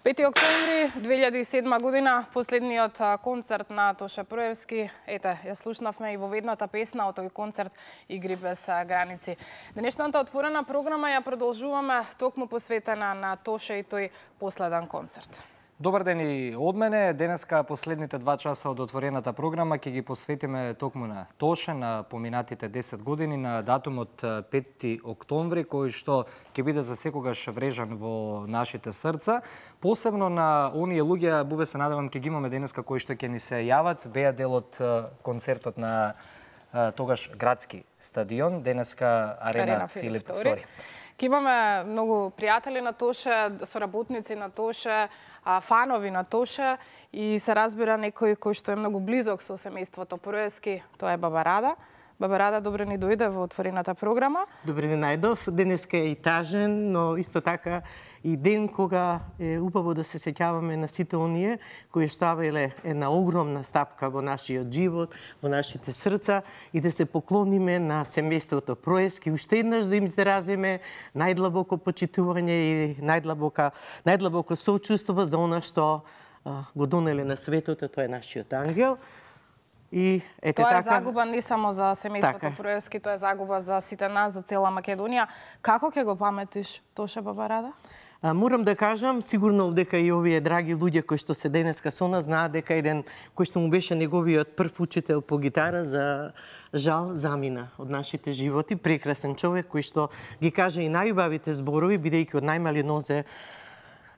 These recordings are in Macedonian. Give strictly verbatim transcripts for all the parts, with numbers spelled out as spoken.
пети октомври две илјади и седма година, последниот концерт на Тоше Проевски. Ете, ја слушнавме и во ведната песна од тој концерт Игри без граници. Денешната отворена програма ја продолжуваме токму посветена на Тоше и тој последен концерт. Добар ден и од мене. Денеска последните два часа од отворената програма ќе ги посветиме токму на Тоше, на поминатите десет години, на датумот пети октомври, кој што ќе биде за секогаш врежан во нашите срца. Посебно на оние луѓе, Бубе, се надевам ќе ги имаме денеска кои што ќе ни се јават, беа дел од концертот на тогаш градски стадион, денеска Арена, Арена Филип втори. Ке имаме многу пријатели на Тоше, соработници на Тоше, фанови на Тоше и се разбира некој кој што е многу близок со семејството Проевски, тоа е Баба Рада. Баба Рада, добре ни дојде во отворената програма. Добре ни најдов. Денеска е и тажен, но исто така и ден кога е убаво да се сеќаваме на сите оние кои ставиле една огромна стапка во нашиот живот, во нашите срца и да се поклониме на семејството Проевски, уште еднаш да им изразиме најдлабоко почитување и најдлабока најдлабоко соучувство за она што а, го донеле на светот, тоа е нашиот ангел. И ете тоа е така, загуба не само за семејството така. Проевски, тоа е загуба за сите нас, за цела Македонија. Како ќе го паметиш Тоше, Баба Рада? А, морам да кажам, сигурно дека и овие драги луѓе кои што се денеска со нас знаат дека еден кој што му беше неговиот прв учител по гитара, за жал замина од нашите животи, прекрасен човек кој што ги каже и најубавите зборови, бидејќи од најмали нозе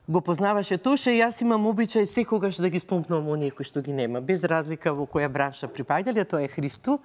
го познаваше Тоше и јас имам обичај секогаш да ги спомнам оние кои што ги нема, без разлика во која бранша припаѓале. Тоа е Христо,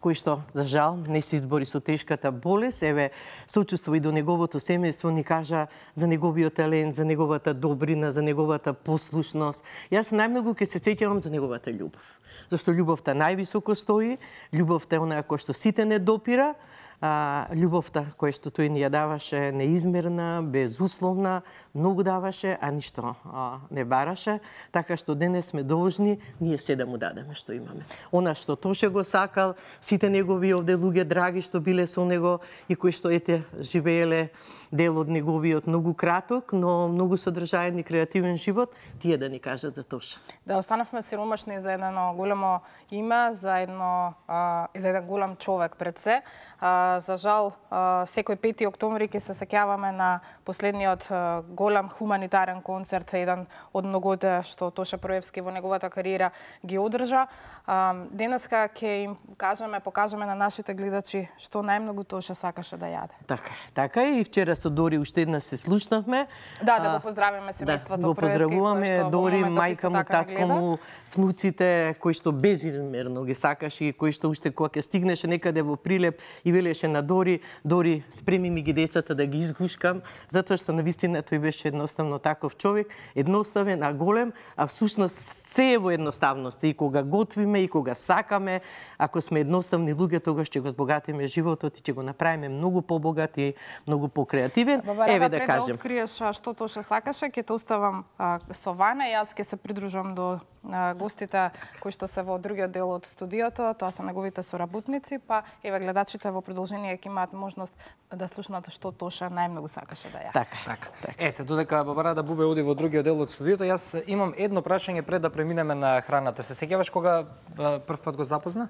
кој што за жал не се избори со тешката болест. Еве, сочувство и до неговото семејство, ни кажа за неговиот талент, за неговата добрина, за неговата послушност. Јас најмногу ќе се сеќавам за неговата љубов. Зашто љубовта највисоко стои, љубовта е онаа која што сите не допира, А, љубовта која што тој ни ја даваше неизмерна, безусловна, многу даваше, а ништо а, не бараше, така што денес сме должни ние се да му дадеме што имаме. Она што Тоше го сакал, сите негови овде луѓе драги што биле со него и кои што ете живееле дел од неговиот многу краток, но многу содржаен и креативен живот, тие да ни кажат за Тоше. Да, останавме сиромашни за едно големо име, за едно а, за еден голем човек пред се. А, за жал, а, секој пети октомври ќе се сеќаваме на последниот а, голем хуманитарен концерт, еден од многото што Тоше Проевски во неговата кариера ги одржа. А, денеска ќе им кажеме, покажеме на нашите гледачи што најмногу Тоше сакаше да јаде. Така, така и вчера со Дори уште една се слушнавме. Да, да го поздравиме семејството да, го Проевски. Поздравуваме Дори, мајка му, татко му, внуците кои што безизмерно ги сакаше и кои што уште кога ќе стигнеше некаде во Прилеп и велеше на Дори, Дори, спреми ми ги децата да ги изгушкам, затоа што навистина тој беше едноставно таков човек, едноставен, а голем, а всушност се е во едноставност. И кога готвиме, и кога сакаме, ако сме едноставни луѓе, тогаш ќе го збогатиме животот и ќе го направиме многу побогат и многу покреативен. Баба, еве да пред кажем. Да откриеш што Тоше сакаше, ќе те оставам а, со Вана, јас ќе се придружам до а, гостите кои што се во другиот дел од студиото, тоа се неговите соработници, па еве гледачите во продолжение ќе имаат можност да слушнат што Тоше најмногу сакаше да ја. Така, така. така. Ете, додека Баба Рада Бубе оди во другиот дел од студиото, јас имам едно прашање пред да преминеме на храната. Се сеќаваш кога прв пат го запозна?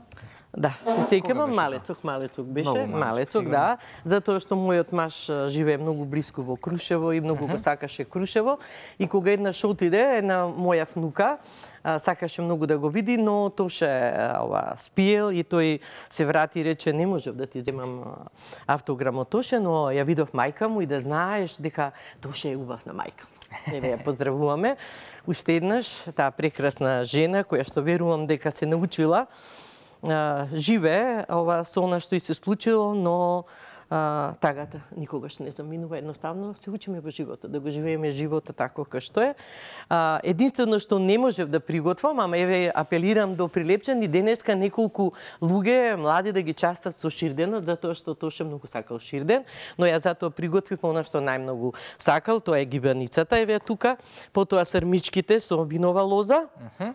Да, се сеќавам, малецок, малецок беше, малецок, да, затоа што мојот маж живее многу блиску во Крушево и многу uh -huh. го сакаше Крушево и кога еднаш отиде една моја внука, сакаше многу да го види, но Тоше ова спиел и тој се врати и рече не можев да ти земам автограм од Тоше, но ја видов мајка му и да знаеш дека Тоше е убавна мајка. Еве ја поздравуваме уште еднаш таа прекрасна жена која што верувам дека се научила живе ова со она што и се случило, но а, тагата никогаш не заминува, едноставно се учиме во животот, да го живееме животот тако како што е. А, единствено што не можев да приготвам, ама еве апелирам до Прилепчани денеска неколку луѓе млади да ги частат со ширденот, затоа што Тоше многу сакал ширден, но ја затоа приготвив она што најмногу сакал, тоа е гибаницата, еве тука, потоа срмичките со винова лоза. Uh -huh.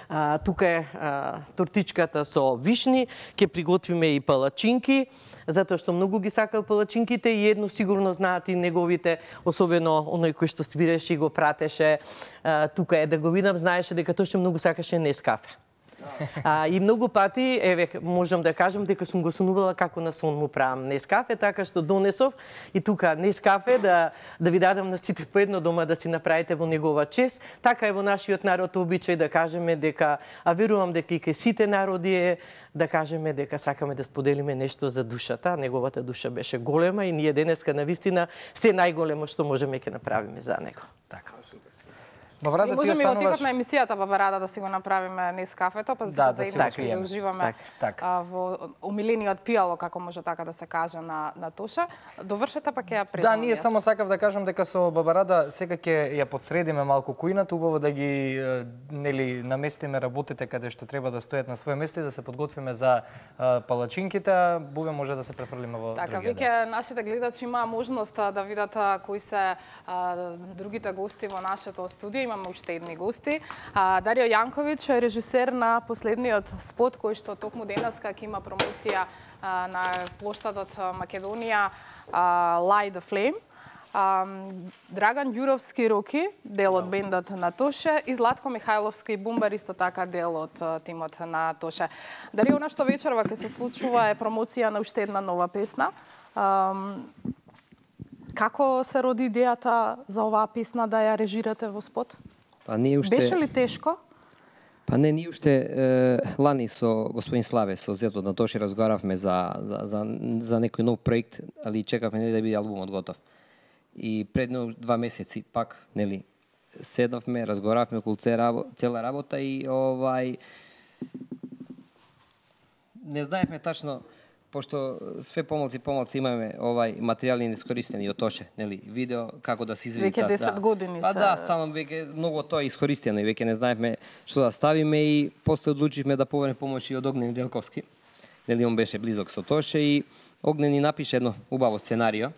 А, тука е а, тортичката со вишни, ќе приготвиме и палачинки, затоа што многу ги сакал палачинките и едно сигурно знаат и неговите, особено оној кој што свиреше и го пратеше а, тука е да го видам, знаеше дека тој што многу сакаше Нескафе. А, и многу пати, еве, можам да кажам дека сум го сонувала како на сон му правам Нескафе, така што донесов и тука Нескафе да да ви дадам на сите по едно дома да си направите во негова чест. Така е во нашиот народ обичај да кажеме дека, а верувам дека и кај сите народи е да кажеме дека сакаме да споделиме нешто за душата. Неговата душа беше голема и ние денеска навистина се најголемо што можеме ќе направиме за него. Така. Бабарада, ти можеме остануваш... и во текот на емисијата Бабарада да си го направиме Нескафето, па да, да, да заеднички да уживаме так. а, во умилениот пијало, како може така да се каже на, на Тоша. Довршете па ќе ја предам. Да, ние само сакав да кажам дека со Бабарада сега ќе ја подсредиме малку кујната, убаво да ги нели наместиме работите каде што треба да стојат на своје место и да се подготвиме за а, палачинките. Бубе може да се префрлиме во така, другиот ден. веќе нашите гледачи имаа можност да видат а, кои се а, другите гости во нашето студио. Имаме уште едни гости. А, Дарио Јанковиќ е режисер на последниот спот кој што токму денеска ќе има промоција а, на плоштадот Македонија а, Light the Flame. А, Драган Ѓуровски Роки, дел од бендот на Тоше, и Златко Михајловски Бумбар, исто така дел од тимот на Тоше. Дарио, она што вечерва ќе се случува е промоција на уште една нова песна. А, Како се роди идејата за оваа песна да ја режирате во спот? Па ние уште Беше ли тешко? Па не, ние уште е, лани со господин Славе, со зетот на Тоши разговаравме за за за за некој нов проект, али чекавме нели да биде албумот готов. И предно два месеци пак, нели, седнавме, разговаравме околу цела работа и овај не знаевме тачно, пошто све помалци помалци имаме овај материјали неискористени од Тоше, нели, видео како да се изведи. Веќе десет да. години Па се... да, станам веќе многу тоа е искористено и веќе не знаевме што да ставиме и после одлучивме да повериме помош и од Огнен Делковски. Нели, он беше близок со Тоше и Огнен ни напише едно убаво сценарио.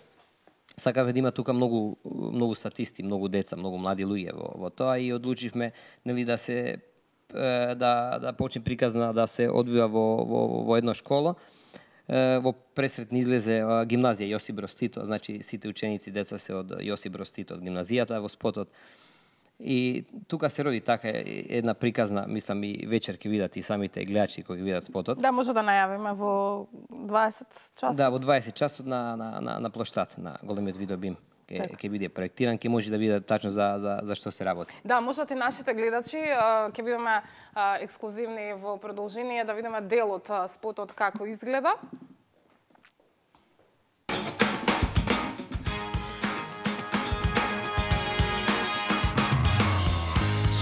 Сакавме да има тука многу многу статисти, многу деца, многу млади луѓе во, во тоа и одлучивме нели да се да да почне приказна да се одвива во во во една школа. Во пресред ни излезе гимназија Јосип Броз Тито, значи сите ученици деца се од Јосип Броз Тито од гимназијата во спотот. И тука се роди така една приказна, мислам и вечер ќе видат и самите гледачи кои ќе видат спотот. Да, може да најавиме во дваесет часот. Да, во дваесет часот на на на, на плоштад на големиот видеобим ќе ќе биде проектиран, ќе може да види тачно за за за што се работи. Да, можат и нашите гледачи ќе бидеме ексклузивни во продолжение да видиме дел од спотот како изгледа.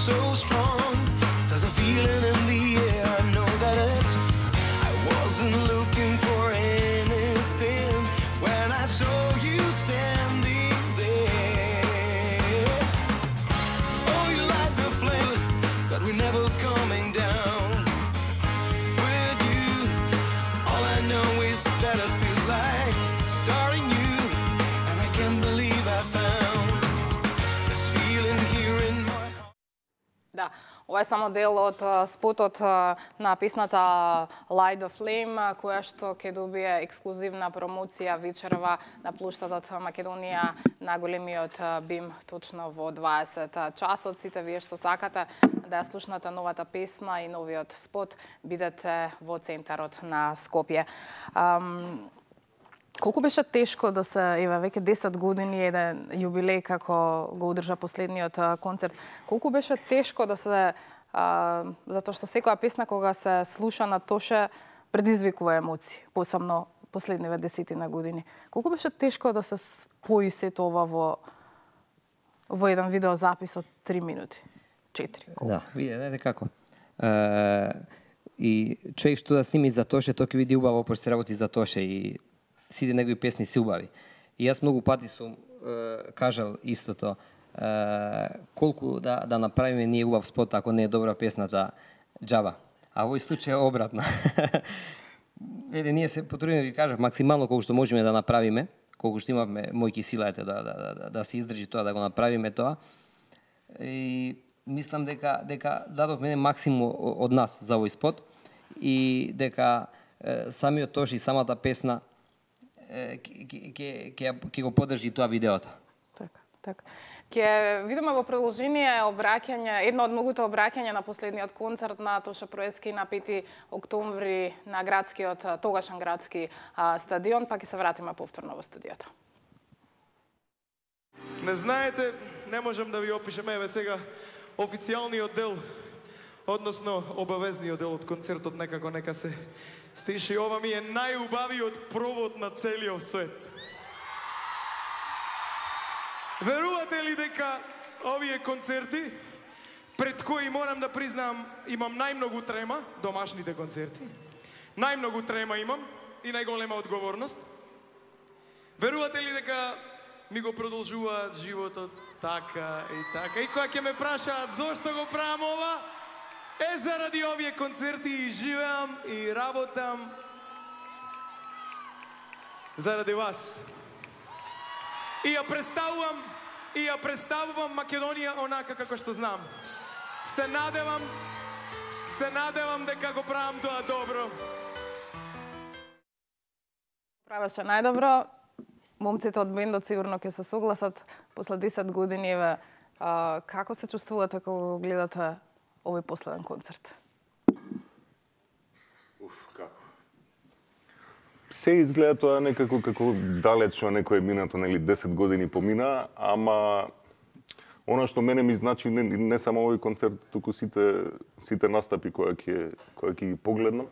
So strong, there's a feeling in the air. I know that it's. I wasn't looking for anything when I saw you standing there. Oh, you light the flame that we're never coming down. With you, all I know is that it feels like starting new, and I can't believe I found this feeling here in my heart. Да, ова е само дел од спотот на песната Light the Flame, која што ќе добие ексклузивна промоција вечерва на плоштадот Македонија на големиот бим точно во дваесет часот. Сите вие што сакате да ја слушнате новата песна и новиот спот, бидете во центарот на Скопје. Um, Колку беше тешко да се, еве, веќе десет години еден јубилеј како го одржа последниот концерт. Колку беше тешко да се, а, затоа што секоја песна кога се слуша на Тоше предизвикува емоции, посебно последниве десетина години. Колку беше тешко да се спои сето ова во во еден видеозапис од три минути, четири. Да, виде, знаете како. Е, и човек што да сними за Тоше, тој ќе види убаво пошто се работи за Тоше и сите негови песни се убави. И јас многу пати сум е, кажал истото, е, колку да, да направиме ние убав спот, ако не е добра песната џаба. А во овој случај е обратно. Еде, ние се потрудиме, ви кажав, максимално колку што можеме да направиме, колку што имавме мојки сила ете, да, да, да, да се издржи тоа, да го направиме тоа. И мислам дека дека дадовме максимум од нас за овој спот и дека е, самиот Тош и самата песна ќе ќе ќе го поддржи тоа видеото. Така, така. Ќе видиме во продолжение обраќање, едно од многуто обраќања на последниот концерт на Тоша Проески на пети октомври на градскиот, тогашен градски а, стадион, па ќе се вратиме повторно во студиото. Не знаете, не можам да ви опишем, еве сега официјалниот дел, односно обавезниот дел од концертот некако нека се стиши. Ова ми е најубавиот провод на целиот свет. Верувате ли дека овие концерти, пред кои морам да признам, имам најмногу трема, домашните концерти, најмногу трема имам и најголема одговорност. Верувате ли дека ми го продолжуваат животот така и така. И кога ќе ме прашаат зошто го правам ова, е заради овие концерти и живеам и работам заради вас. И ја представувам, и ја представувам Македонија онака како што знам. Се надевам, се надевам дека го правам тоа добро. Правеше најдобро. Момците од бендот сигурно ќе се согласат после десет години. Еве, а, како се чувствувате кога гледате овој последен концерт? Уф, како? Се изгледа тоа некако како далечно некое минато, нели десет години помина, ама она што мене ми значи не, не само овој концерт, туку сите сите настапи кои ќе кои ќе ги погледнам,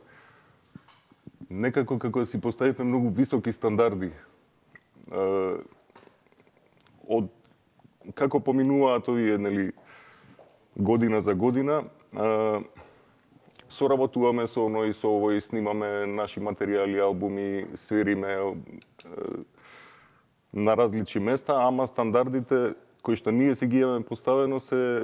некако како да си поставите многу високи стандарди. Од како поминуваат овие, нели, година за година, соработуваме со оно и со овој, снимаме наши материјали, албуми, свириме на различни места, ама стандардите кои што ние си ги имаме поставено се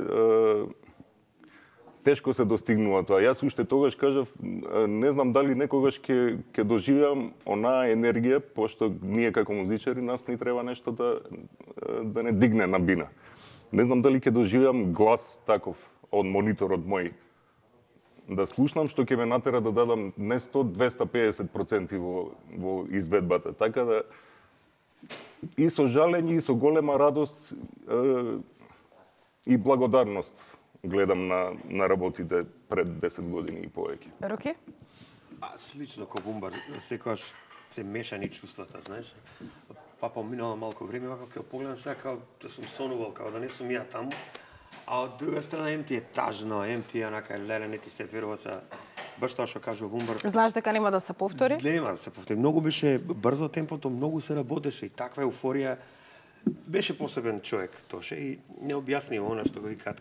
тешко се достигнува тоа. Јас уште тогаш кажав, не знам дали некогаш ќе ќе доживеам онаа енергија, пошто ние како музичари нас ни треба нешто да да не дигне на бина. Не знам дали ќе доживеам глас таков од мониторот мој. Да слушнам што ќе ме натера да дадам не сто, двесте педесет проценти во во изведбата. Така да и со жалење и со голема радост е, и благодарност гледам на, на работите пред десет години и повеќе. Руки? А, слично ко Бумбар, секогаш се мешани чувствата, знаеш. Па поминало малку време, ако ќе погледам сега као да сум сонувал, као да не сум ја таму. А од друга страна, ем ти е тажно, ем ти е онака леле, не ти се верува са баш тоа што кажува Бумбар. Знаеш дека нема да се повтори? Нема да се повтори. Многу беше брзо темпото, многу се работеше и таква еуфорија. Беше посебен човек Тоше и не објасни она што го викаат,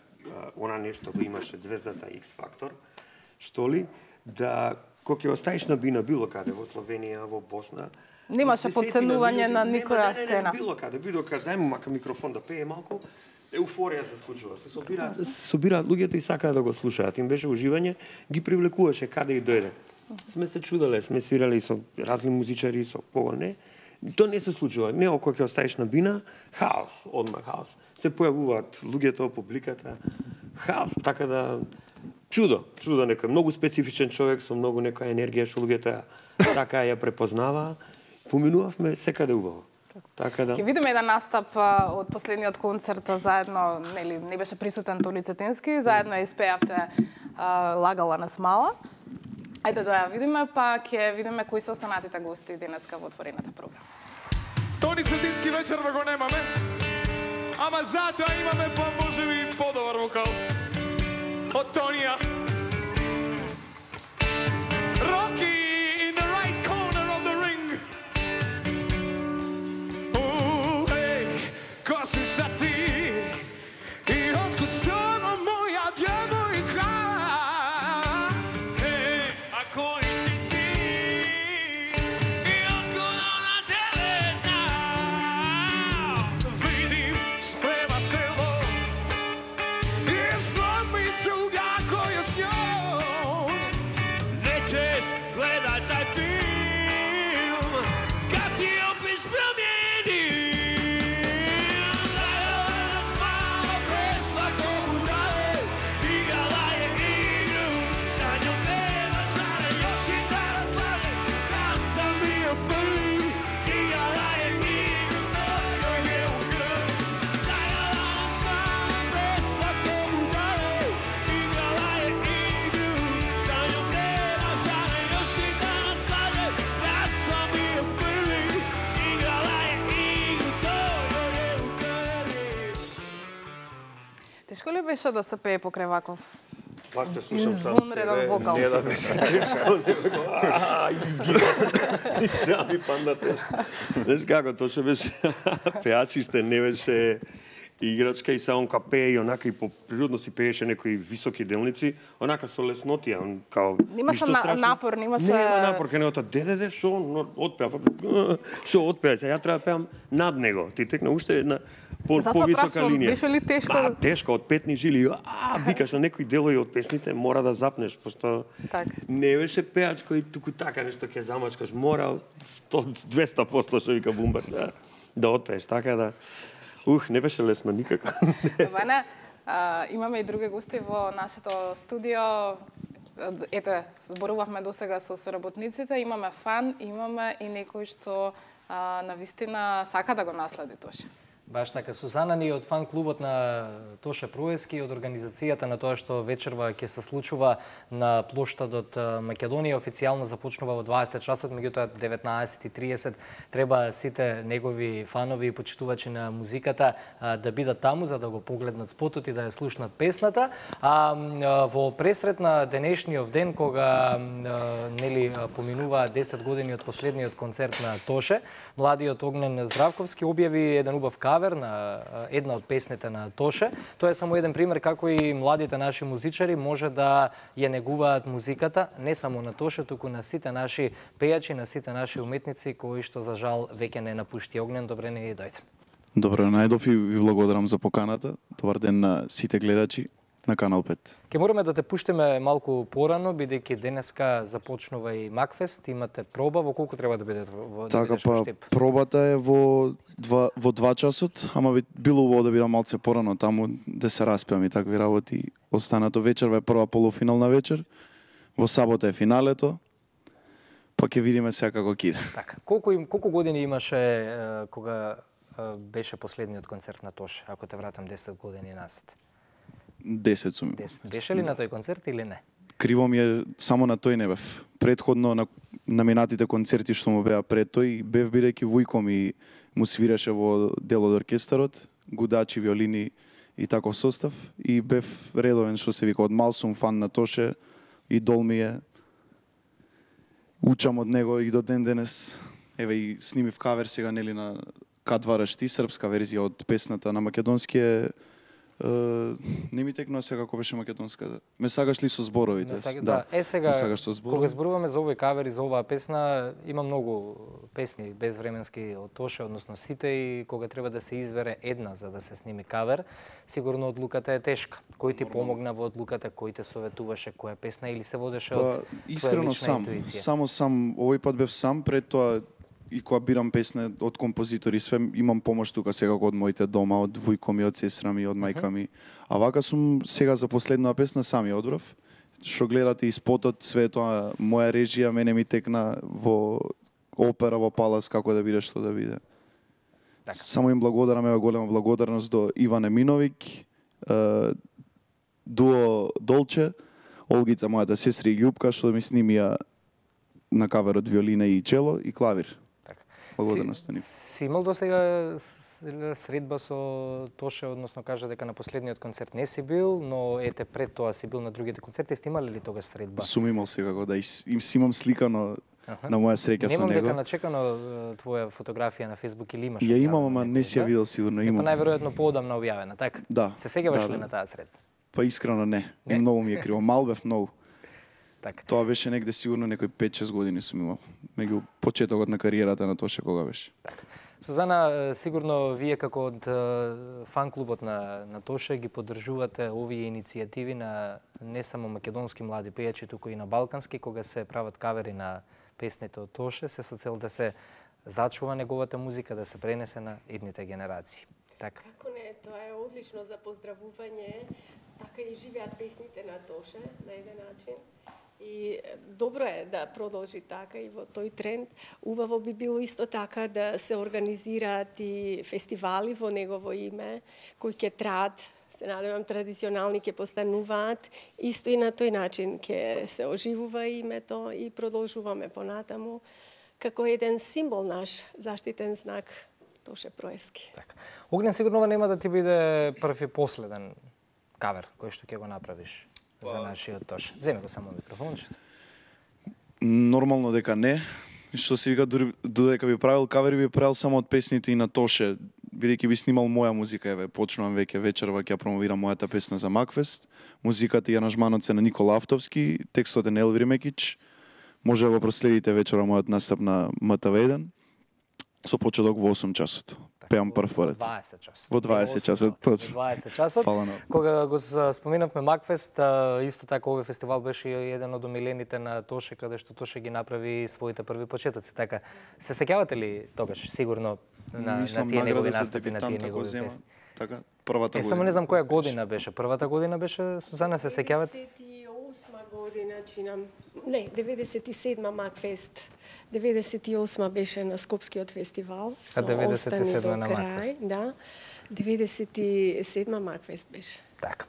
она нешто го имаше звездата X Factor, што ли, да кога ќе оставиш на бина било каде во Словенија, во Босна, Немаше подценување на никоја сцена. Било каде, било каде, дај му мака микрофон да пее малку, еуфорија се случува. Се собираат, се собираат луѓето и сакаат да го слушаат. Им беше уживање, ги привлекуваше каде и дојде. Сме се чудале, сме свирали со разни музичари, со кого не. Тоа не се случува. Не ако ќе оставиш на бина, хаос, одма хаос. Се појавуваат луѓето, публиката, хаос, така да чудо, чудо некој многу специфичен човек со многу некоја енергија што луѓето ја така ја препознава. Поминувавме секаде убаво. Така да. Ќе видиме еден настап а, од последниот концерт заедно, нели не беше присутен Толи Цетински, заедно ја испеавте а, Лагала на смала. Ајде да ја видиме, па ќе видиме кои се останатите гости денеска во отворената програма. Тони Цетински вечерва го немаме, ама затоа имаме па можеби подобар вокал од Тонија. Rocky in the right corner of the ring. Oh, hey, коси са ти и откуд стана моја девојка. Hey, а кој си ти и откуд она тебе зна? Видим спрева село и сломицу ја која с ња. беше да се пее покрај ваков? Баш се слушам сам Извонреден себе, вокал. не да беше тешко, него, ааа, изгина. И сега ми панда тешко. Знаеш како, тоа што беше пеачиште, не беше играчка и само ка пее и онака и по природно си пееше некои високи делници, онака со леснотија, он као Немаше ништо на- страшно. напор, немаше- Нема напор, кај негото, деде, шо, но, отпеа, па, шо отпеа, сега ја треба да пеам над него, ти текна уште една по, Затоа повисока прашувам, линија. беше ли тешко? А, тешко, од петни жили, а, викаш на некои делови од песните, мора да запнеш, пошто Так. не беше пеач кој туку така нешто ќе замачкаш, мора сто двеста проценти што вика Бумбар, да, да отпееш, така да. Ух, не беше лесно никако. Ваня, а, имаме и други гости во нашето студио. Ете, зборувавме досега со соработниците, имаме фан, имаме и некој што а, навистина сака да го наследи Тоше. Баш така, Сузана ни од фан клубот на Тоше Проески, од организацијата на тоа што вечерва ќе се случува на плоштадот Македонија, официјално започнува во дваесет часот, меѓутоа деветнаесет и триесет треба сите негови фанови и почитувачи на музиката а, да бидат таму за да го погледнат спотот и да ја слушнат песната. А м, во пресрет на денешниот ден кога м, нели поминува десет години од последниот концерт на Тоше, младиот Огнен Здравковски објави еден убав кавер на една од песните на Тоше. Тоа е само еден пример како и младите наши музичари може да ја негуваат музиката, не само на Тоше, туку на сите наши пејачи, на сите наши уметници кои што за жал веќе не напушти. Огнен, добре не дојде. Добро најдов и ви благодарам за поканата. Добар ден на сите гледачи на Канал пет. Ке мораме да те пуштиме малку порано, бидејќи денеска започнува и Макфест, имате проба, во колку треба да бидете во да Така бидеш во па Штип? пробата е во два во два часот, ама би било убаво да бидам малце порано таму да се распеам и такви работи. Останато вечерва е прва полуфинална вечер. Во сабота е финалето. Па ќе видиме сега како ќе иде. Така. Колку им колку години имаше е, кога е, беше последниот концерт на Тоше, ако те вратам десет години назад? десет сум. имал. десет. Беше ли на тој концерт или не? Криво ми е, само на тој не бев. Предходно на на минатите концерти што му беа пред тој, бев бидејќи вујко ми му свиреше во дел од оркестарот, гудачи, виолини и таков состав, и бев редовен, што се вика, од мал сум фан на Тоше, идол ми е. Учам од него и до ден денес. Еве и снимив кавер сега нели на Кад вараш ти, српска верзија од песната на македонски е. Uh, не ми текнува сега како беше македонска. Ме сагаш ли со зборовите? Не сага- да. Е сега ме сагаш со зборови. кога зборуваме за овој кавер и за оваа песна, има многу песни безвременски од Тоше, односно сите, и кога треба да се избере една за да се сними кавер, сигурно одлуката е тешка. Кој ти помогна во одлуката, кој те советуваше која песна или се водеше од Па, твоја искрено лична сам, интуиција? само сам, овој пат бев сам, пред тоа и кога бирам песне од композитори, све имам помош тука секако од моите дома, од вујко ми, од сестра ми, од мајка ми. А вака сум сега за последната песна сам ја одбрав. Што гледате и спотот, све тоа, моја режија, мене ми текна во опера, во Палас, како да биде, што да биде. Така. Само им благодарам, ева голема благодарност до Иван Еминовиќ, е, дуо Долче, Олгица, мојата сестра и Љупка, што ми снимија на каверот виолина и чело и клавир. Така. Благодарност на Си, нив. си имал досега с- средба со Тоше, односно кажа дека на последниот концерт не си бил, но ете пред тоа си бил на другите концерти. Сте имале ли тогаш средба? Сум имал секако, да, и с- им си имам сликано на моја среќа со Немам дека него. начекано е, твоја фотографија на Facebook или имаш? Ја имам, објавена ама не некој, си ја да? видел сигурно, Е, па имам. најверојатно поодамна објавена, така? Да, Се сеќаваш да, ли да. на таа средба? Па искрено не, Не? и многу ми е криво. Мал бев многу. Така. Тоа беше негде сигурно некои пет-шест години сум имал. Меѓу почетокот на кариерата на Тоше кога беше. Така. Сузана, е, сигурно вие како од е, фан клубот на на Тоше ги поддржувате овие иницијативи на не само македонски млади пејачи, туку и на балкански, кога се прават кавери на песните од Тоше, се со цел да се зачува неговата музика, да се пренесе на идните генерации. Така. Како не, тоа е одлично за поздравување, така и живеат песните на Тоше на еден начин. И е, добро е да продолжи така и во тој тренд. Убаво би било исто така да се организираат и фестивали во негово име, кои ќе траат, се надевам традиционални ќе постануваат, исто и на тој начин ќе се оживува името и продолжуваме понатаму како еден символ наш, заштитен знак Тоше Проески. Така. Огнен сигурно ова нема да ти биде прв и последен кавер кој што ќе го направиш за нашиот Тоше? Земи го само микрофончето. Нормално дека не. Што се вика, додека би правил кавери, би правил само од песните и на Тоше. Бидејќи би снимал моја музика, еве, почнувам веќе вечерва ќе ја промовирам мојата песна за Макфест. Музиката и аранжманот се на Никола Автовски, текстот е на Елвир Мекич. Може да го проследите вечера мојот настап на М Т В еден. Со почеток во осум часот. Пеам прв поред. Во дваесет часот. Во дваесет часот, точно. Во дваесет часот. Фала на... Кога го споменавме Макфест, исто така овој фестивал беше еден од омилените на Тоше, каде што Тоше ги направи своите први почетоци. Така, се сеќавате ли тогаш сигурно на, на тие негови настапи, на тие негови песни? Така, првата година. Е, само не знам која година беше. Првата година беше, Сузана, се сеќавате? деветдесет и осма година чинам. Не, деветдесет и седма Макфест. деветдесет и осма беше на Скопскиот фестивал. А деветдесет и седма на крај, Макфест. Да. деветдесет и седма Макфест беше. Така.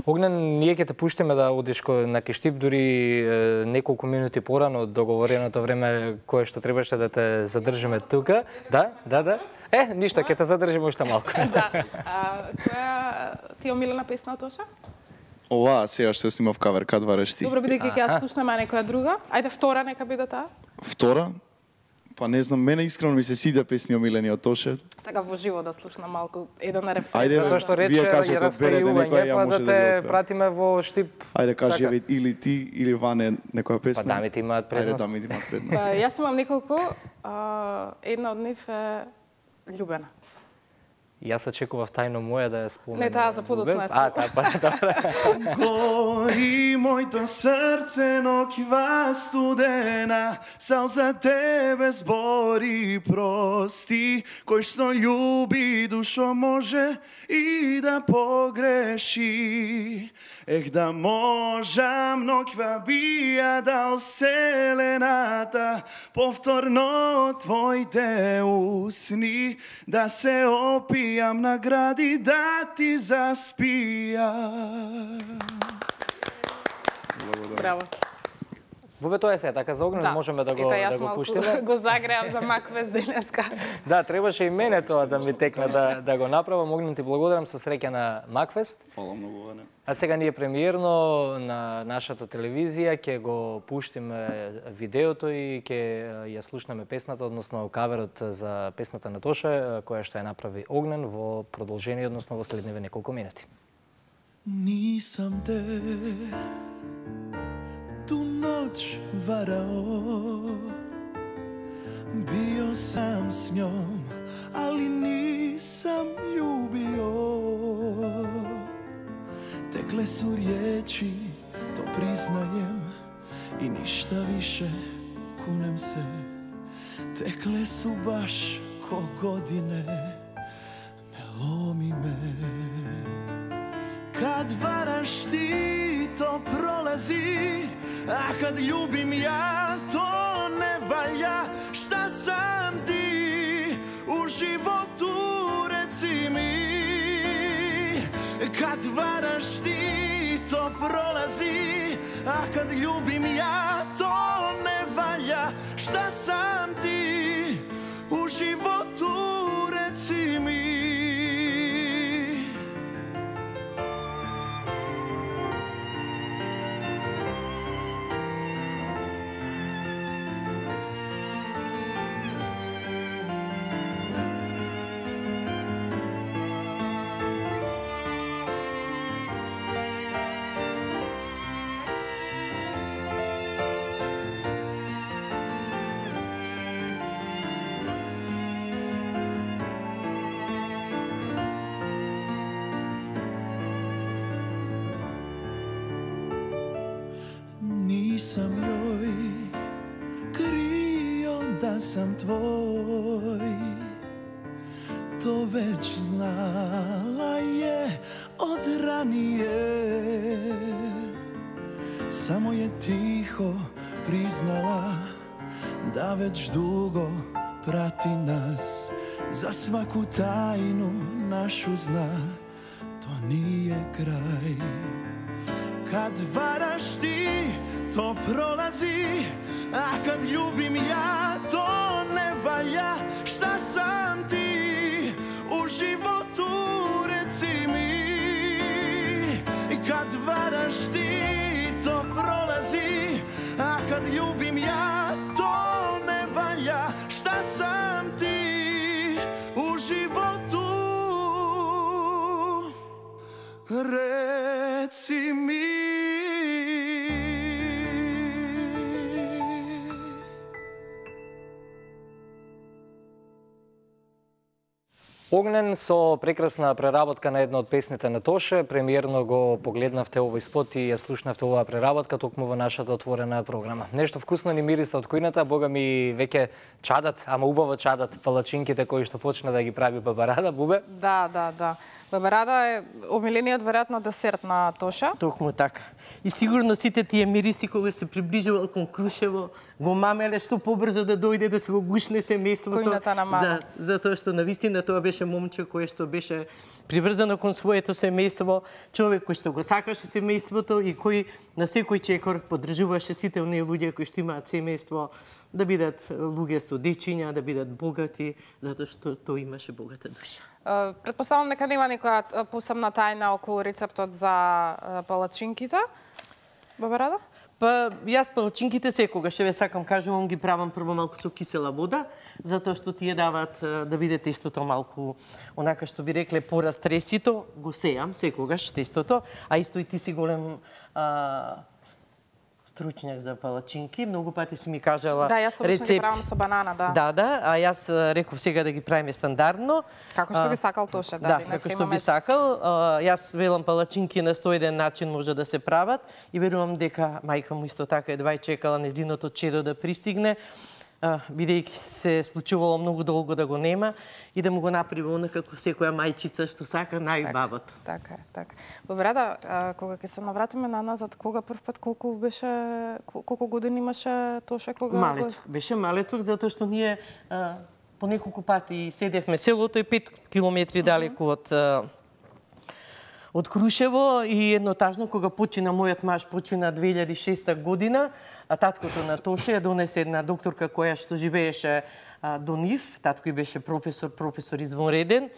Огнен, ние ќе те пуштиме да одиш на Киштип дури е, неколку минути порано од договореното време кое што требаше да те задржиме тука. Да, да, да. Е, ништо, ќе те задржиме уште малку. Да. А, која ти е омилена песна од Тоша? Ова, сега што снимав кавер, кад вареш ти. Добро, бидејќи ќе ја слушнеме некоја друга. Ајде втора нека биде таа. Втора? Па не знам, мене искрено ми се сидеа песни омилени од Тоше. Сега во живо да слушнам малку еден рефрен. Ајде, Затоа што рече да ги распрејување, па да те пратиме во Штип. Ајде, кажи еве или ти или Ване некоја песна. Па дамите имаат предност. Ајде, дамите имаат предност. Па, јас имам неколку, а, една од нив е Љубена. Јас очекував тајно моја да ја споменам. Не, таа за подоцна. А, таа, па, добре. Гори моето срце, ноќва студена, сал за тебе збори прости, кој што љуби душо може и да погреши. Ех да можам, ноќва би ја дал вселената, повторно твоите усни, да се опијам на гради, да ти заспија. Браво. Во бе тоа е се, така за Огнен Да. можеме да го, Ета, јас да го малку пуштиме. го загреав за Макфест денеска. Да, требаше и мене тоа да ми текне да, да го направам. Огнен, ти благодарам, со среќа на Макфест. Фала многу, Ване. А сега ние премиерно на нашата телевизија ќе го пуштиме видеото и ќе ја слушнеме песната, односно каверот за песната на Тоше, која што ја направи Огнен во продолжение, односно во следниве неколку минути. Нисам те ту ноќ варао, био сам с њом, али нисам љубио. Текле су риечи, то признајем, и ништа више, кунем се. Текле су баш ко године, не ломи ме. Kad varaš ti, to prolazi, a kad ljubim ja, to ne valja. Šta sam ti u životu, reci mi. Kad varaš ti, to prolazi, a kad ljubim ja, to ne valja. Šta sam ti u životu, reci mi. Nisam joj krio da sam tvoj, to već znala je od ranije. Samo je tiho priznala da već dugo prati nas, za svaku tajnu našu zna, to nije kraj. Kad varaš ti, to prolazi, a kad ljubim ja, to ne valja. Šta sam ti u životu, reci mi. животу, реци ми. Огнен со прекрасна преработка на една од песните на Тоше. Премиерно го погледнавте овој спот и ја слушнавте оваа преработка токму во нашата отворена програма. Нешто вкусно ни мириса од кујната, бога ми веќе чадат, ама убаво чадат палачинките кои што почна да ги прави Бабарада, Бубе. Да, да, да. Бабарада е омилениот веројатно десерт на Тоша. Токму така. И сигурно сите тие мириси кога се приближува кон Крушево, го мамеле што побрзо да дојде да се го гушне семејството. Којната на мама. За, за тоа што навистина тоа беше момче кое што беше приврзано кон своето семејство, човек кој што го сакаше семејството и кој на секој чекор поддржуваше сите оние луѓе кои што имаат семејство да бидат луѓе со дечиња, да бидат богати, затоа што тој имаше богата душа. Предпоставам дека нема никоја посебна тајна околу рецептот за палачинките. Бабарада? Па јас палачинките секогаш ве сакам кажувам ги правам прво малку со кисела вода, затоа што тие даваат да бидете истото малку онака што би рекле порастресито, го сеам секогаш тестото, а исто и ти си голем а, стручњак за палачинки, многу пати си ми кажала да, јас обично рецепти. ги правам со банана, да. Да, да, а јас реков сега да ги правиме стандардно. Како што би сакал Тоше, да. Да, како што имаме... би сакал. А, јас велам палачинки на сто еден начин може да се прават и верувам дека мајка му исто така едва и чекала нејзиното чедо да пристигне, бидејќи се случувало многу долго да го нема и да му го направи онака како секоја мајчица што сака најбавото. Така е, така. Бабарада, кога ќе се навратиме на назад, кога прв пат колку беше колку години имаше Тоше кога Малецок, беше малецок затоа што ние а, по неколку пати седевме селото е пет километри далеку од од Крушево и еднотажно кога почина мојот маж почина две илјади и шеста година, а таткото на Тоше ја донесе една докторка која што живееше а, до нив, татко и беше професор, професор извонреден.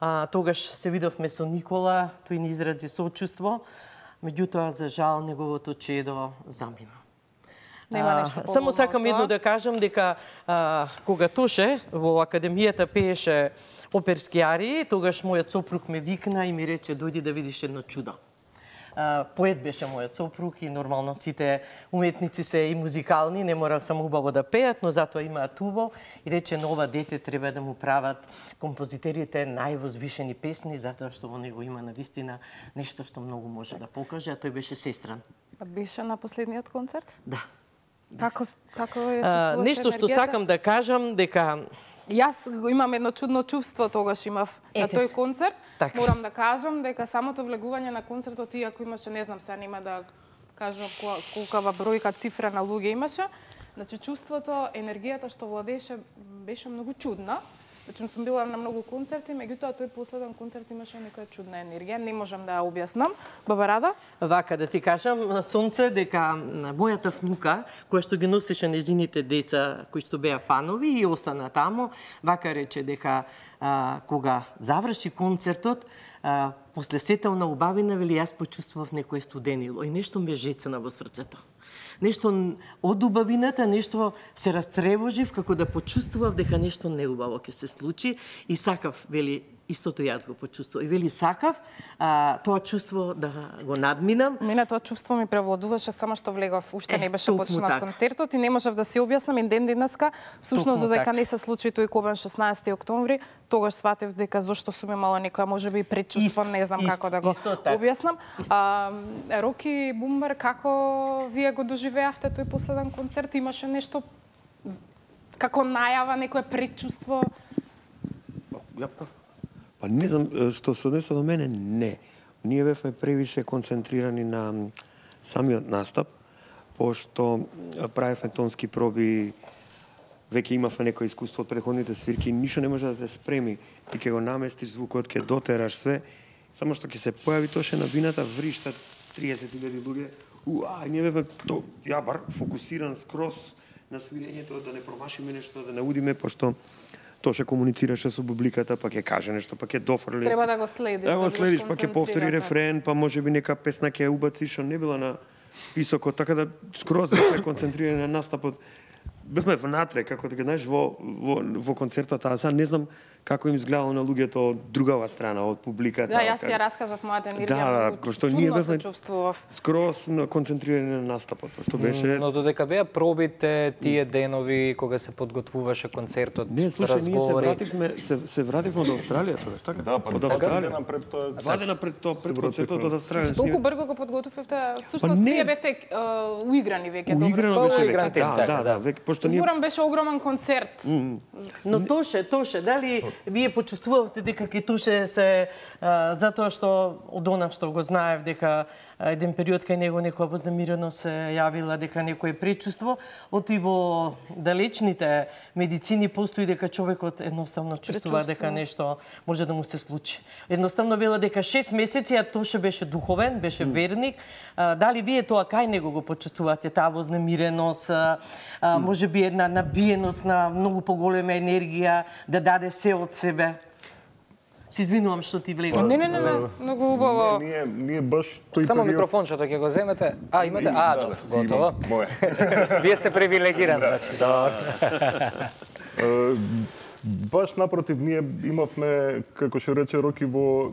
А, тогаш се видовме со Никола, тој ни изрази сочувство, меѓутоа за жал неговото чедо замина. Нема нешто А, само сакам едно да кажам дека а, кога Тоше во академијата пееше оперски арии, тогаш мојот сопруг ме викна и ми рече дојди да видиш едно чудо. А, поет беше мојот сопруг и нормално сите уметници се и музикални, не мора само убаво да пеат, но затоа имаат убаво и рече на ова дете треба да му прават композитерите највозвишени песни затоа што во него има навистина нешто што многу може да покаже, а тој беше сестран. Беше на последниот концерт? Да. Како како ја А, чувствуваше нешто што енергијата? сакам да кажам дека Јас го имам едно чудно чувство тогаш имав на Ете. тој концерт. Така. Морам да кажам дека самото влегување на концертот, иако имаше, не знам, сега нема да кажам колкава бројка цифра на луѓе имаше, значи чувството, енергијата што владееше беше многу чудна. Значи сум била на многу концерти, меѓутоа тој последен концерт имаше некоја чудна енергија, не можам да ја објаснам. Бабарада? Вака да ти кажам, Сонце, дека мојата внука, која што ги носеше нејзините деца, кои што беа фанови и остана таму, вака рече дека а, кога заврши концертот, а, после сетелна убавина, вели, јас почувствував некој студенило и нешто ме жецна во срцето. Нешто од убавината, нешто се растревожив, како да почувствував дека нешто неубаво ќе се случи и сакав, вели, истото јас го почувствував. И вели сакав а, тоа чувство да го надминам. Мене тоа чувство ми превладуваше само што влегов, уште Е, не беше токму почнат така. концертот и не можев да си објаснам и ден денеска, всушност Токму додека така. не се случи тој кобен шеснаесети октомври, тогаш сватев дека зошто сум имала некоја можеби предчувство, Исто, не знам исто, како да го исто така. објаснам. А, Роки Бумбар, како вие го доживеавте тој последен концерт? Имаше нешто како најава, некое предчувство? Ја па, па не знам, што се однесува до мене, не. Ние бевме превише концентрирани на самиот настап, пошто правевме тонски проби, веќе имавме некој искуство од претходните свирки, ништо не може да те спреми. Ти ќе го наместиш звукот, ќе дотераш све, само што ќе се појави Тоше на бината, вришта триесет илјади луѓе. Уа, ние бевме то јабар, фокусиран скроз на свирењето, да не промашиме нешто, да не удиме, пошто Тоше комуницираше со публиката, па ќе каже нешто, па ќе дофрли. Треба да го следиш. Да го бидеш следиш, па ќе повтори концентриран. рефрен, па може би нека песна ќе ја убаци, што не била на списокот, така да скроз бевме концентрирани на настапот. Бевме внатре, како да знаеш, во, во, во концертот, а сега не знам како им изгледало на луѓето од другава страна, од публиката. Да, јас како- ја раскажав мојата енергија. Да, да, многу кој што ние чудно се бевме чувствував. скроз на- концентрирани на настапот, што беше... Но додека беа пробите тие денови кога се подготвуваше концертот, Не, слушај, ние се разговори. вративме, се, се вративме од Австралија, тоа, така? Да, па од два Австралија. дена пред тоа. Два дена пред тоа, пред концертот од Австралија. Толку брзо го подготвивте, Па всушност не. вие бевте е, уиграни веќе. Уиграно добро, беше уигран веќе. тим, Да, така, да, да, веќе пошто ние Зборам беше огромен концерт. Но Тоше, Тоше, дали вие почувствувавте дека ке Тоше се а, затоа што од она што го знаев дека а, еден период кај него некоја вознемирено се јавила дека некое пречувство, оти во далечните медицини постои дека човекот едноставно чувствува дека нешто може да му се случи. Едноставно вела дека шест месеци, а Тоше беше духовен, беше верник. А, дали вие тоа кај него го почувствувате, таа вознемиреност, а, а, може би една набиеност на многу поголема енергија да даде се од себе? Се извинувам што ти влегам. Не, не, не, не, многу убаво. Не, ние, ние баш тој Само период- микрофончето ќе го земете. А, имате? А, Да, добро, да, си имам, готово. Мое. Вие сте привилегиран, значи. Добро. Е, Баш напротив, ние имавме, како што рече Роки, во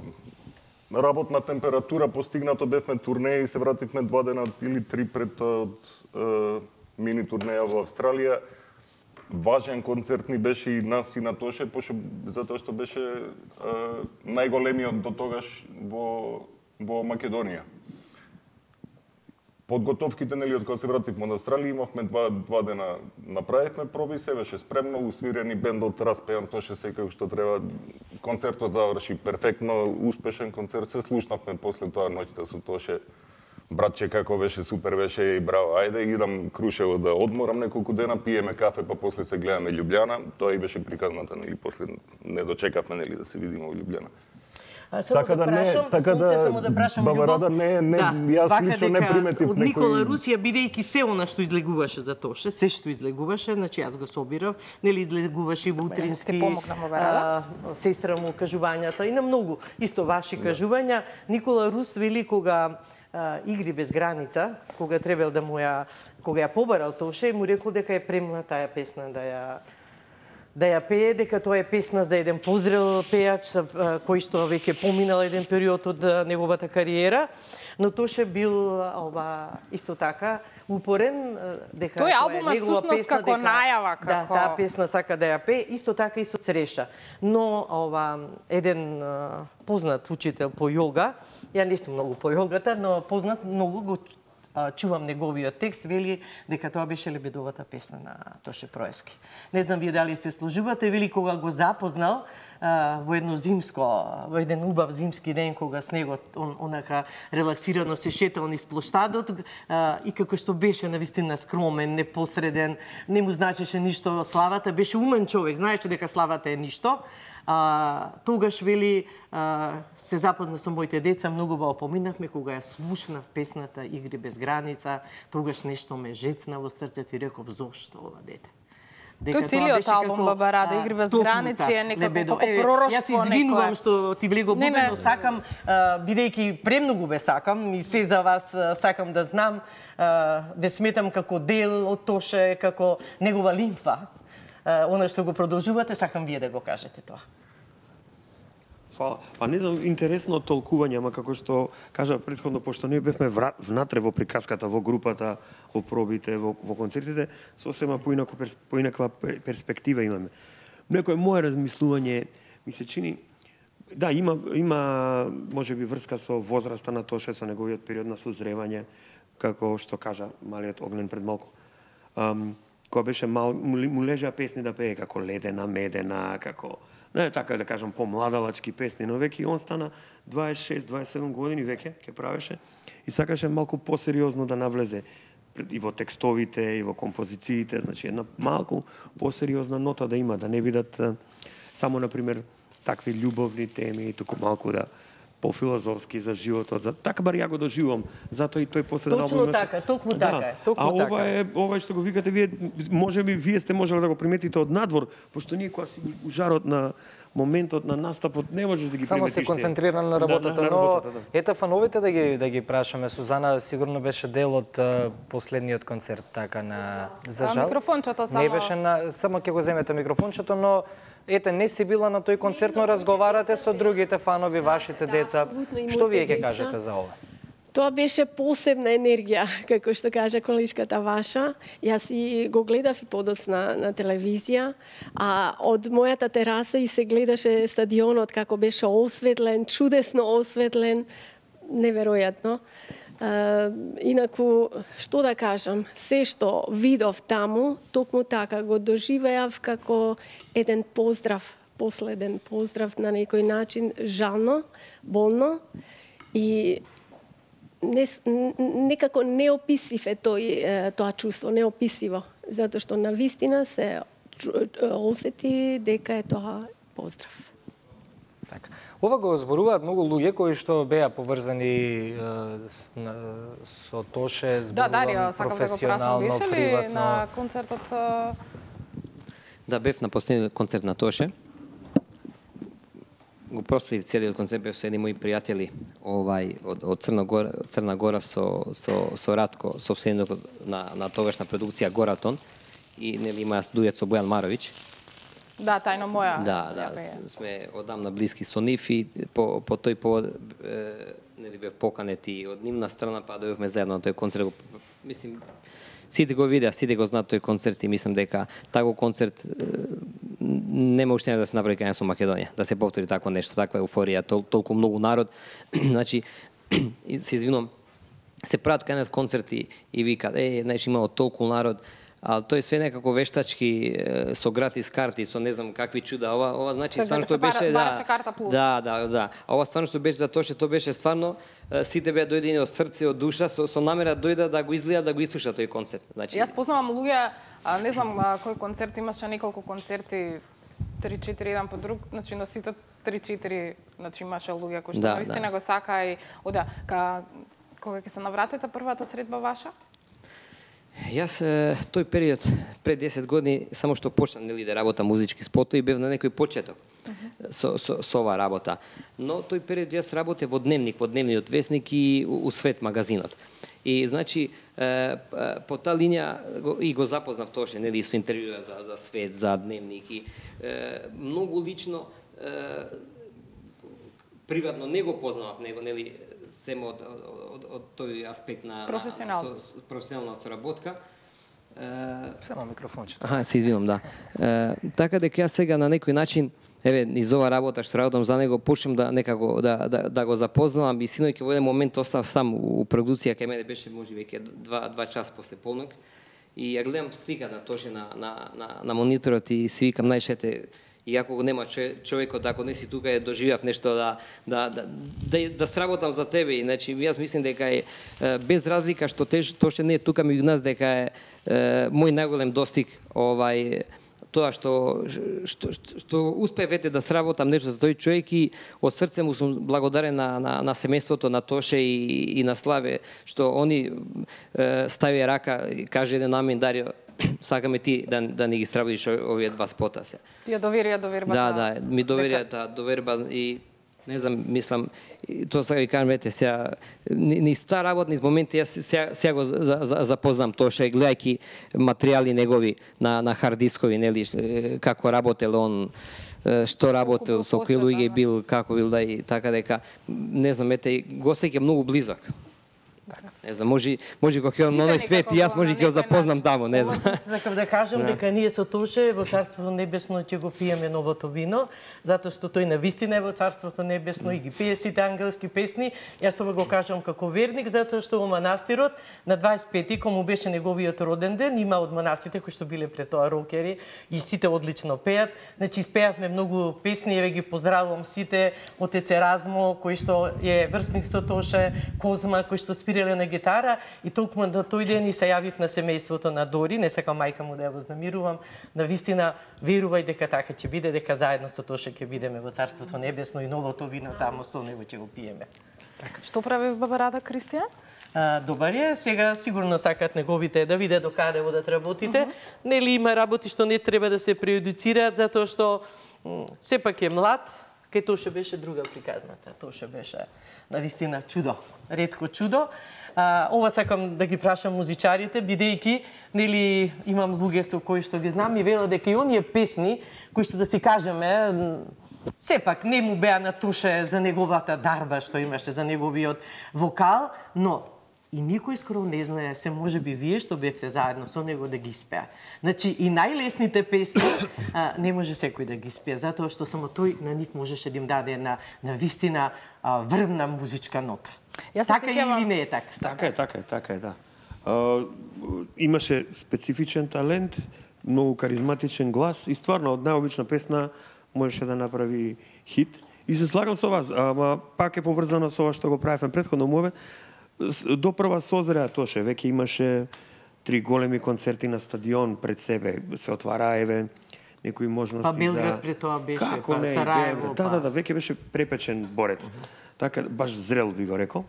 работна температура постигнато, бевме турнеи и се вративме два дена или три пред тоа од е, мини турнеја во Австралија. Важен концерт ни беше и нас и на Тоше, пошто затоа што беше е, најголемиот до тогаш во во Македонија. Подготовките, нели, од кога се вративме од Австралија, имавме два, два дена, направивме проби, се беше спремно, усвирени бендот, распеан, Тоше секако што треба. Концертот заврши перфектно, успешен концерт, се слушнавме после тоа ноќта со Тоше. Братче, како беше, супер беше и браво, ајде, идам Крушево да одморам неколку дена, пиеме кафе, па после се гледаме Љубљана. Тоа и беше приказната, нели, после не дочекавме, нели, да се видиме во Љубљана. А, само Така да, да не- прашам, така Сонце, да, само да прашам, Баба Љубов. Рада, не- не, јас вака лично не дека приметив од некој- Никола Русија, бидејќи се она што излегуваше за Тоше, се што излегуваше, значи јас го собирав, нели излегуваше и во утрински, Ти помогна, Баба Рада. а, сестра му кажувањата и на многу исто ваши кажувања. Никола Рус вели кога а, игри без граница, кога требал да му ја кога ја побарал Тоше, му рекол дека е премна таа песна да ја да ја пее, дека тоа е песна за еден позрел пејач а, кој што веќе поминал еден период од а, неговата кариера, но Тоше бил а, ова исто така упорен а, дека Тој тоа е албумот негова всушност песна, како најава, да, како- таа песна сака да ја пее, исто така и со Цреша. Но ова еден а, познат учител по јога, ја не сум многу по јогата, но познат многу го а, чувам неговиот текст, вели дека тоа беше лебедовата песна на Тоше Проески. Не знам вие дали се служувате, вели кога го запознал а, во едно зимско, во еден убав зимски ден кога снегот он, онака релаксирано се шетал низ плоштадот а, и како што беше навистина скромен, непосреден, не му значеше ништо славата, беше умен човек, знаеше дека славата е ништо. А, тогаш вели а, се запозна со моите деца, многу ба опоминавме кога ја слушнав песната Игри без граница, тогаш нешто ме жецна во срцето и реков зошто ова дете. Тој целиот албум Баба Рада, Игри без граници е некако како пророштво. Јас се извинувам некое. што ти влего Не, буде, не. но сакам, а, бидејќи премногу ве сакам и се за вас а, сакам да знам, а, ве сметам како дел од Тоше, како негова лимфа. А, она што го продолжувате, сакам вие да го кажете тоа. Фала. Па не знам, интересно толкување, ама како што кажа претходно, пошто ние бевме вра- внатре во приказката, во групата, во пробите, во, во концертите, сосема поинако перс, поинаква пер- перспектива имаме. Некој мое размислување ми се чини, да, има, има можеби врска со возраста на Тоше, со неговиот период на созревање, како што кажа малиот Огнен пред малку. Um, кога беше мал, му, му лежа песни да пее како Ледена, Медена, како не така да кажам помладалачки песни, но веќе он стана дваесет и шест дваесет и седум години веќе ќе правеше и сакаше малку посериозно да навлезе и во текстовите и во композициите, значи една малку посериозна нота да има, да не бидат а, само на пример такви љубовни теми, туку малку да пофилозофски за животот, за така бар ја го доживувам. Затоа и тој последен Точно албум беше- така, токму така е, токму а ова така. е ова што го викате вие, можеби вие сте можеле да го приметите од надвор, пошто ние кога си у жарот на моментот на настапот не можеш да ги Само приметиш. се тие. концентриран на Да, работата, на но работата, да. ета фановите да ги да ги прашаме. Сузана сигурно беше дел од а, последниот концерт така на за А, жал. микрофончето само. Не беше на само ќе го земете микрофончето, но ете, не си била на тој концерт, но разговарате со другите фанови, вашите деца. Што вие ќе кажете за ова? Тоа беше посебна енергија, како што кажа колешката ваша. Јас и го гледав и подоцна на телевизија, а од мојата тераса и се гледаше стадионот како беше осветлен, чудесно осветлен, неверојатно. Uh, инаку, што да кажам, се што видов таму, токму така го доживеав како еден поздрав, последен поздрав на некој начин, жално, болно и не, некако неописив е тој, тоа чувство, неописиво, затоа што навистина се осети дека е тоа поздрав. Така. Ова го зборуваат многу луѓе кои што беа поврзани е, со Тоше, зборувам да, Дарија, сакам да го прашам, беше ли приватно. на концертот? Да, бев на последниот концерт на Тоше. Го проследив целиот концерт, бев со едни мои пријатели овај од, од Црна Гора, Црна Гора со со со Радко, собственикот на на тогашна продукција Горатон, и нели има дует со Бојан Маровиќ. Да, тајно моја. Да, да, сме одамна блиски со нив и по по тој повод нели бев поканет и од нивна страна, па дојдовме заедно на тој концерт. Мислим, сите го видеа, сите го знаат тој концерт и мислам дека таков концерт нема уште да се направи кај нас во Македонија, да се повтори тако нешто, таква еуфорија, тол, толку многу народ. Значи, се извинувам, се прават кај нас концерти и викаат, е, знаеш, имало толку народ, а тој све некако вештачки со гратис карти, со не знам какви чуда. Ова ова значи стварно што беше да. Да, да, да. А ова стварно што беше за тоа што тоа беше стварно сите беа дојдени од срце, од душа, со со намера дојда да го изгледа, да го ислуша тој концерт. Значи Јас познавам луѓе, а, не знам а, кој концерт имаше неколку концерти три-четири еден по друг, значи на сите три-четири, значи имаше луѓе кои што да, наистина да. го сака и ода ка кога ќе се навратите првата средба ваша? Јас тој период пред десет години само што почнав нели да работам музички спотови и бев на некој почеток uh -huh. со со со оваа работа. Но тој период јас работев во Дневник, во Дневниот весник и у, у Свет магазинот. И значи по таа линија и го запознав Тоше, нели со интервјуа за за Свет, за Дневник и многу лично приватно не го познавав него, нели семо од, од, од тој аспект на професионално професионална соработка. Само микрофончето. Аха, се извинувам, да. Е, така дека јас сега на некој начин, еве, низ ова работа што работам за него, почнем да некако да, да, да го запознавам и синоќ во еден момент остав сам у продуција, кај мене беше може веќе два, два час после полнок. И ја гледам слика на Тоше на, на, на, на мониторот и си викам, најшете, и ако го нема човекот, ако не си тука, е доживав нешто да да да да, да сработам за тебе. И значи јас мислим дека е без разлика што теж Тоше не е тука меѓу нас, дека е, е мој најголем достиг овај тоа што што што, што успеевте да сработам нешто за тој човек и од срце му сум благодарен на на, на семејството на Тоше и, и на Славе што они е, ставија рака и каже еден амин, Дарио, сакаме ти да, да ни ги сработиш овие два спота се. Ја доверија довербата. Да, да, ми доверија таа доверба и не знам, мислам, тоа сега ви кажам, ете, сега, ни, ни ста работ, низ моменти, јас сега, сега го за, за, запознам Тоше, гледајќи материјали негови на, на хард дискови, нели, како работел он, што работел, со кои луѓе бил, како бил, да, и така дека, не знам, ете, го сеќа многу близок. Не знам, може може кога ќе на оној свет и јас може ќе го запознам таму, не знам. Сакам да кажам дека ние со Тоше во Царството небесно ќе го пиеме новото вино, затоа што тој навистина е во Царството небесно и ги пие сите ангелски песни. Јас ова го кажам како верник, затоа што во манастирот на дваесет и пети, кога му беше неговиот роден ден, има од монасите кои што биле пред тоа рокери и сите одлично пеат. Значи испеавме многу песни, еве ги поздравувам сите, отец Еразмо кој што е врсник со Тоше, Козма кој што спирале на гитара и токму на тој ден и се јавив на семејството на Дори, не сакам мајка му да ја вознамирувам, навистина верувај дека така ќе биде, дека заедно со Тоше ќе бидеме во Царството небесно и новото вино таму со него ќе го пиеме. Така. Што прави баба Рада, Кристијан? А, добар е, сега сигурно сакат неговите да виде до каде одат работите. Uh -huh. Нели има работи што не треба да се прејудицираат затоа што сепак е млад, Кај Тоше беше друга приказната. Тоше беше навистина чудо, ретко чудо. А, ова сакам да ги прашам музичарите, бидејќи нели имам луѓе со кои што ги знам и велат дека и оние песни кои што да си кажеме сепак не му беа на Тоше за неговата дарба што имаше, за неговиот вокал, но и никој скоро не знае, се може би вие што бевте заедно со него да ги спеа. Значи и најлесните песни а, не може секој да ги спее, затоа што само тој на нив можеше да им даде на на вистина а, врвна музичка нота. Јас се Така сеќавам- или не е така? Така е, така е, така е, да. А, имаше специфичен талент, многу каризматичен глас и стварно од најобична песна можеше да направи хит. И се слагам со вас, ама пак е поврзано со ова што го правевме претходно мове. Допрва созреа Тоше, веќе имаше три големи концерти на стадион пред себе, се отвара еве некои можности Па Белград за... пред тоа беше, Како па не, Сараево, Белград. Да, па. да, да, веќе беше препечен борец. Uh -huh. Така, баш зрел би го рекол.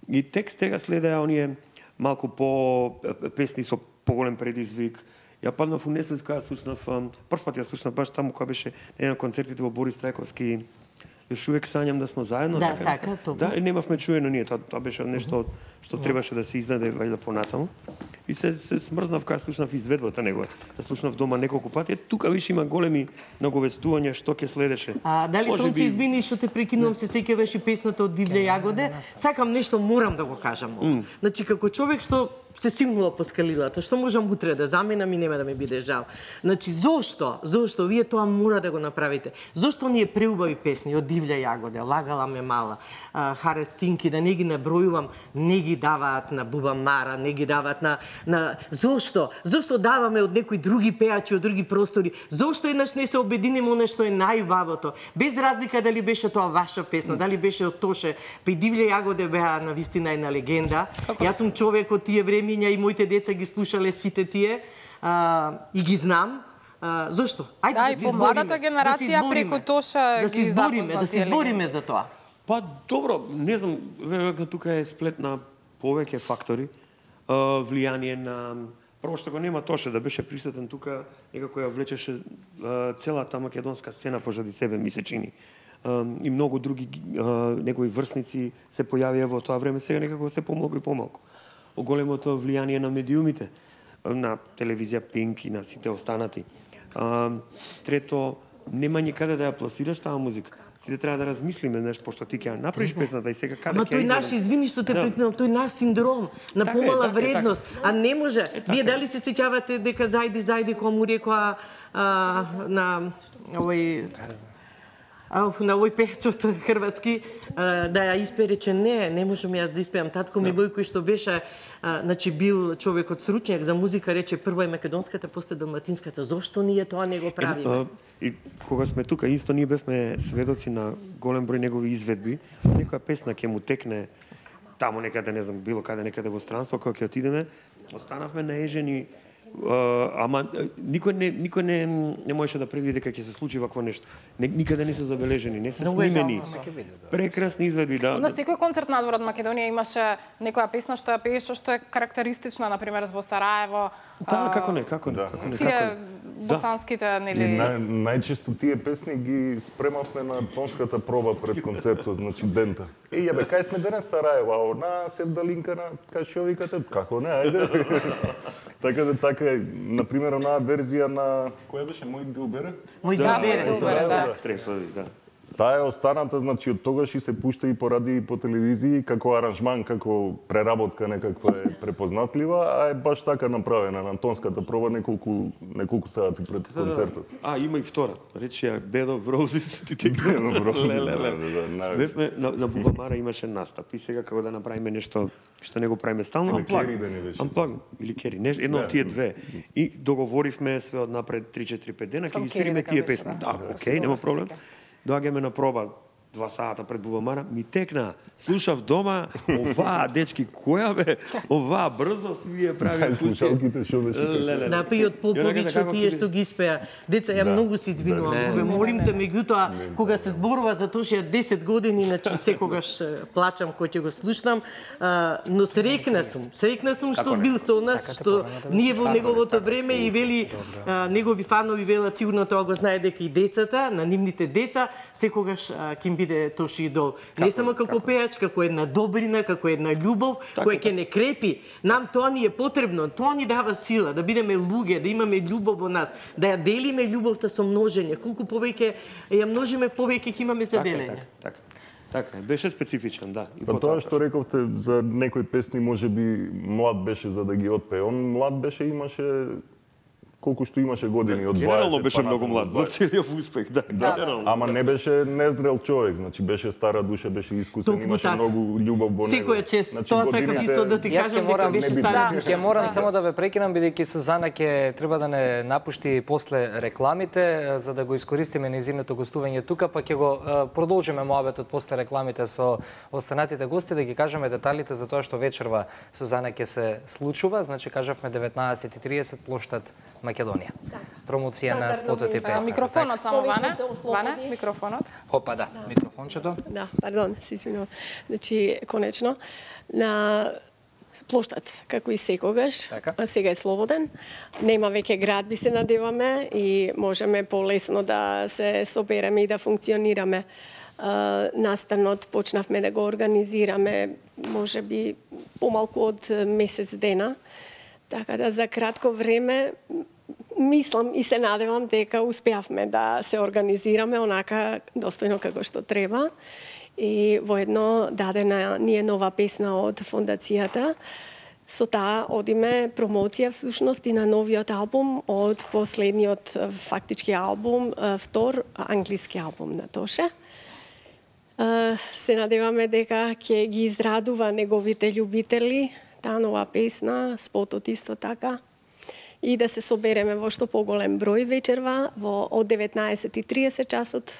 И текст тега следеа оние малку по песни со поголем предизвик. Ја паднав у несвест кога слушнав, прв пат ја слушнав баш таму кога беше на концертите во Борис Трајковски. Још увек сањам да сме заедно. Да, така, така, да, токму. да, и немавме чуено ние, тоа, тоа беше нешто што требаше да се издаде вајда понатаму. И се, се смрзнав кога слушнав изведбата негова. Да слушнав дома неколку пати. Е, тука више има големи наговестувања што ќе следеше. А дали Може Сонце, би- извини што те прекинувам, се сеќаваш и песната од Дивља јагоде. Сакам нешто, морам да го кажам. Mm. Значи како човек што се симнува по скалилата, што можам утре да заменам и нема да ми биде жал. Значи зошто? Зошто вие тоа мора да го направите? Зошто ние преубави песни од Дивља јагоде, Лагала ме мала, а, Харестинки, да не ги набројувам, не ги даваат на Буба Мара, не ги даваат на на зошто? Зошто даваме од некои други пеачи од други простори? Зошто еднаш не се обединиме она што е најубавото? Без разлика дали беше тоа ваша песна, дали беше од Тоше, па и Дивља јагоде беа на вистина една легенда. Јас сум човек од тие времиња и моите деца ги слушале сите тие а, и ги знам. А, зошто? Ајде Да, да, и се помладата избориме, генерација да се избориме, преку Тоша да ги се избориме, запозна да се тие избориме за тоа. Па добро, не знам, веројатно тука е сплет на повеќе фактори, а, влијание на прво што го нема Тоше да беше присутен тука, некако ја влечеше а, целата македонска сцена пожади себе, ми се чини. А, и многу други а, негови врсници се појавија во тоа време, сега некако се помалку и помалку. Оголемото влијание на медиумите, на телевизија Пинк и на сите останати. А, трето, нема никаде да ја пласираш таа музика. Сите треба да размислиме, знаеш, пошто ти ќе ја направиш песната и сега каде Ама ќе ја тој изведам? наш, извини што те Да. прекинувам, тој наш синдром на Така е, помала така е, вредност, а не може. така Вие е. дали се сеќавате дека зајди зајди кога му рекоа а, на овој а, на овој пејачот хрватски а, да ја испее, рече не, не можам јас да испеам. Татко ми Војко што беше а, значи бил човекот стручњак за музика, рече прво е македонската, после далматинската. Зошто ние тоа не го правиме? А, и кога сме тука, исто ние бевме сведоци на голем број негови изведби. Некоја песна ќе му текне таму некаде, не знам, било каде некаде во странство, кога ќе отидеме, останавме наежени. Uh, ама никој не никој не не можеше да предвиди дека ќе се случи вакво нешто. Не, никаде не се забележени, не се Многу е снимени. жално. Прекрасни изведби, да. На секој концерт надвор од Македонија имаше некоја песна што ја пееше што е карактеристична, на пример во Сараево. Да, а, како не, како не, како не, Тие како не. босанските, И нели... нај, најчесто тие песни ги спремавме на тонската проба пред концертот, значи дента. Е, јабе, кај сме денес Сараево, а на Севдалинка на кај што викате? Како не, ајде. Така да така е, на пример, онаа верзија на која беше Мој Дилбере? Мој Да, да, бере. Дилбере, да. Тресови, да. Таа е останата, значи од тогаш и се пушта и по радио и по телевизија како аранжман, како преработка некаква е препознатлива, а е баш така направена на тонската проба неколку неколку сати пред концертот. А, има и втора. Рече ја Bed of Roses, ти те Bed of Roses, Леле, да, леле. да, да, нај- Бевме на, на Буба Мара имаше настап и сега како да направиме нешто што не го правиме стално, Или амплаг. Кери да не беше. Амплаг или Кери, не, едно Да. од тие две. И договоривме све од напред три четири пет дена, ќе Сам ги Кери свириме дека тие беше, песни. да. Да, окей, нема проблем. Доаѓаме на проба два сата пред Бубамара, ми текна. Слушав дома, оваа, дечки, која бе, оваа, брзо си вие прави. Дај слушалките, шо беше така? Наприот Попович, тие што ги испеа. Деца, ја многу се извинувам. Бе, молим те, меѓутоа, кога се зборува за тоа што ја десет години, значи секогаш плачам кој ќе го слушнам, но срекна сум. Срекна сум што бил со нас, што ние во неговото време и вели негови фанови велат, сигурно тоа го знае дека и децата, на нивните деца, секогаш ќе им биде Тоши идол. Не само како пејач, како една добрина, како една љубов, која ќе не крепи. Нам тоа ни е потребно, тоа ни дава сила, да бидеме луѓе, да имаме љубов во нас, да ја делиме љубовта со множење. Колку повеќе ја множиме, повеќе ќе имаме за делење. Така, така. Така, беше специфичен, да. И па тоа што рековте за некои песни можеби млад беше за да ги отпее. Он млад беше, имаше колку што имаше години од дваесет. Генерално беше многу млад за целиот успех, да. Да, ама не беше незрел човек, значи беше стара душа, беше искусен, имаше многу љубов во него. Секоја чест, тоа сакам исто да ти кажам дека беше стара душа. Ќе морам само да ве прекинам бидејќи Сузана ќе треба да не напушти после рекламите за да го искористиме нејзиното гостување тука, па ќе го продолжиме моабетот после рекламите со останатите гости да ги кажеме деталите за тоа што вечерва Сузана ќе се случува, значи кажавме деветнаесет и тридесет плоштад Македонија. Промоција на спотот и песната. Микрофонот само, Ване. Ване, микрофонот. Опа, да, микрофончето. Да, пардон, се извинувам. Значи, конечно, на плоштад, како и секогаш, така. Сега е слободен. Нема веќе градби, се надеваме и можеме полесно да се собереме и да функционираме. Настанот почнавме да го организираме, може би помалку од месец дена. Така да за кратко време мислам и се надевам дека успеавме да се организираме онака достојно како што треба. И воедно дадена ни е нова песна од фондацијата. Со таа одиме промоција всушност и на новиот албум од последниот фактички албум, втор англиски албум на Тоше. Се надеваме дека ќе ги израдува неговите љубители таа нова песна, спотот исто така, и да се собереме во што поголем број вечерва, во од деветнаесет и тридесет часот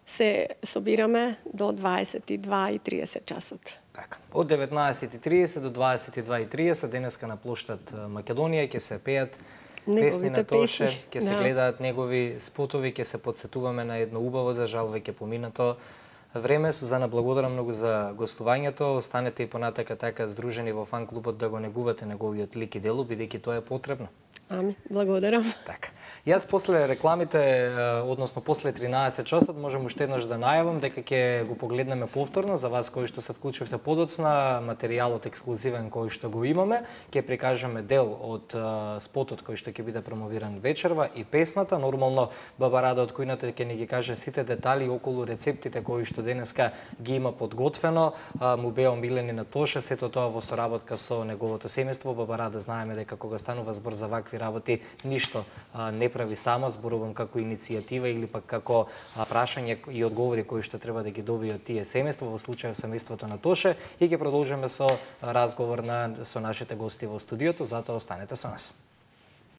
се собираме до дваесет и два и тридесет часот. Така. Од деветнаесет и тридесет до дваесет и два и тридесет денеска на плоштад Македонија ќе се пеат песни на Тоше, ќе се гледаат негови спотови, ќе се подсетуваме на едно убаво, за жал веќе поминато време. Сузана, благодарам многу за гостувањето. Останете и понатака така здружени во фан клубот да го негувате неговиот лик и дело, бидејќи тоа е потребно. Ами, благодарам. Така. Јас после рекламите, односно после тринаесет часот, можам уште еднаш да најавам дека ќе го погледнеме повторно за вас кои што се вклучивте подоцна, материјалот ексклузивен кој што го имаме, ќе прикажеме дел од спотот кој што ќе биде промовиран вечерва и песната. Нормално Баба Рада од Кујната ќе ни ги каже сите детали околу рецептите кои што денеска ги има подготвено. Му беа омилени на Тоше, сето тоа во соработка со неговото семејство. Баба Рада знаеме дека кога станува збор за вакви работи, ништо а, не прави сама, зборувам како иницијатива или пак како а, прашање и одговори кои што треба да ги добијат тие семејства, во случајот семејството на Тоше, и ќе продолжиме со разговор на со нашите гости во студиото, затоа останете со нас.